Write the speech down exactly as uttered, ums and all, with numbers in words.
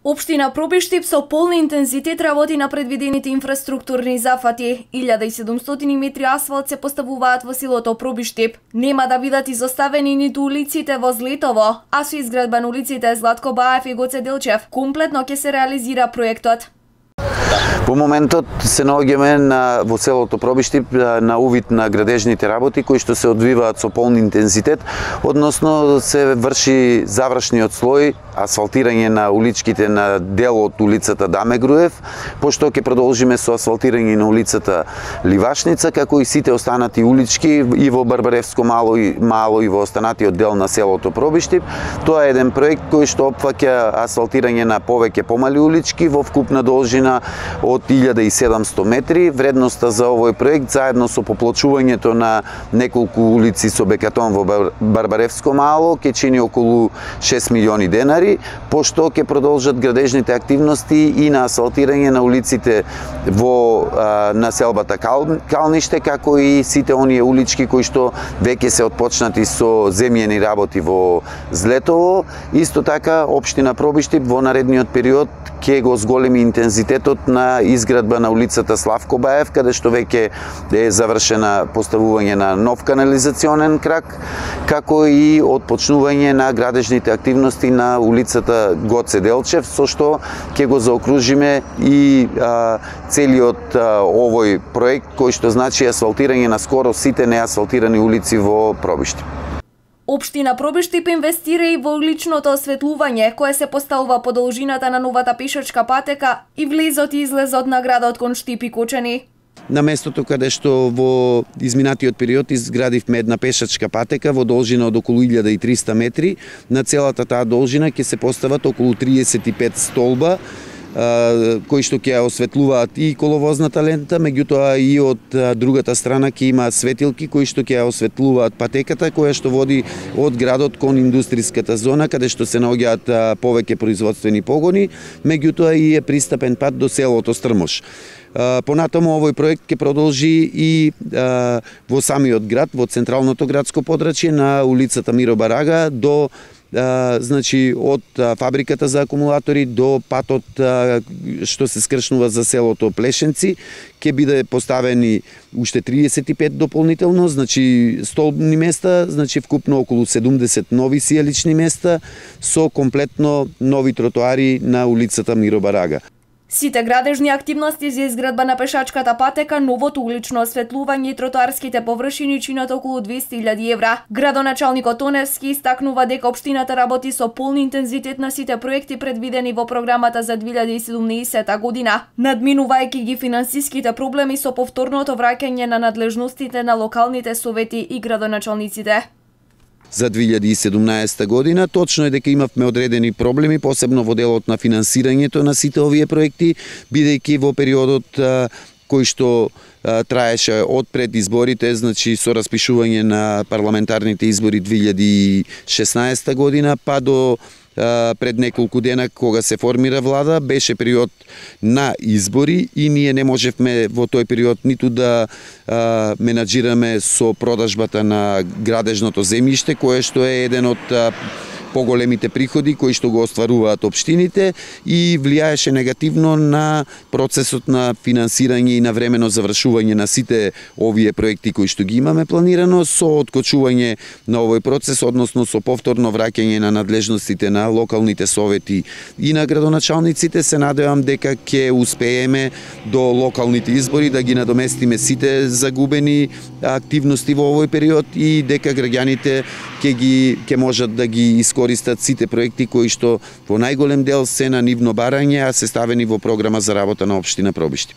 Општина Пробиштип со полни интензитет работи на предвидените инфраструктурни зафати. илјада и седумстотини метри асфалт се поставуваат во селото Пробиштип. Нема да бидат изоставени ниту улиците во Злетово, а со изградба на улиците Златко Баев и Гоце Делчев, комплетно ќе се реализира проектот. Во моментот се наоѓаме на во селото Пробиштип на увид на градежните работи кои што се одвиваат со полн интензитет, односно се врши завршниот слој, асфалтирање на уличките на дел од улицата Даме Груев, пошто ќе продолжиме со асфалтирање на улицата Ливашница, како и сите останати улички и во Барбаревско мало и мало и во останатиот дел на селото Пробиштип. Тоа е еден проект кој што опфаќа асфалтирање на повеќе помали улички во вкупна должина од илјада и седумстотини метри. Вредноста за овој проект заедно со поплачувањето на неколку улици со бекатон во Барбаревско мало ќе чини околу шест милиони денари, пошто ќе продолжат градежните активности и на асфалтирање на улиците во а, населбата Кал, Калниште, како и сите оние улички кои што веќе се отпочнати со земјени работи во Злетово. Исто така, општина Пробиштип во наредниот период ќе го зголеми интензитетот на изградба на улицата Славко Баев, каде што веќе е завршена поставување на нов канализационен крак, како и отпочнување на градежните активности на улицата Гоце Делчев, со што ќе го заокружиме и а, целиот а, овој проект, кој што значи асфалтирање на скоро сите неасфалтирани улици во Пробиштип. Општина Пробиштип инвестира и во уличното осветлување, кое се поставува по должината на новата пешачка патека и влезот и излезот на градот кон Штип и Кочани. На местото каде што во изминатиот период изградивме една пешачка патека во должина од околу илјада и триста метри, на целата таа должина ќе се постават околу триесет и пет столба, кои што ќе осветлуваат и коловозната лента, меѓутоа и од другата страна ќе има светилки кои што ќе осветлуваат патеката која што води од градот кон индустријската зона, каде што се наоѓаат повеќе производствени погони, меѓутоа и е пристапен пат до селото Стрмош. Понатаму овој проект ќе продолжи и а, во самиот град, во централното градско подрачје на улицата Миро Барага до Uh, значи од uh, фабриката за акумулатори до патот uh, што се скршнува за селото Плешенци ќе биде поставени уште триесет и пет дополнително, значи столбни места, значи вкупно околу седумдесет нови сијалични места со комплетно нови тротоари на улицата Миро Барага. Сите градежни активности за изградба на пешачката патека, новото улично осветлување и тротоарските површини чинат околу двесте илјади евра. Градоначалникот Тоневски истакнува дека општината работи со полн интензитет на сите проекти предвидени во програмата за две илјади и седумнаесета година, надминувајќи ги финансиските проблеми со повторното враќање на надлежностите на локалните совети и градоначалниците. За две илјади и седумнаесета година точно е дека имавме одредени проблеми, посебно во делот на финансирањето на сите овие проекти, бидејќи во периодот а, кој што а, траеше од пред изборите, значи со распишување на парламентарните избори две илјади и шеснаесета година, па до пред неколку дена кога се формира влада, беше период на избори и ние не можевме во тој период ниту да а, менаџираме со продажбата на градежното земјиште, кое што е еден од а, поголемите приходи кои што го остваруваат општините и влијаеше негативно на процесот на финансирање и на времено завршување на сите овие проекти кои што ги имаме планирано, со откочување на овој процес, односно со повторно враќање на надлежностите на локалните совети и на градоначалниците. Се надевам дека ќе успееме до локалните избори да ги надоместиме сите загубени активности во овој период и дека граѓаните ќе ги ќе можат да ги искористат сите проекти кои што во најголем дел се на нивно барање, а се ставени во програма за работа на општина Пробиштип.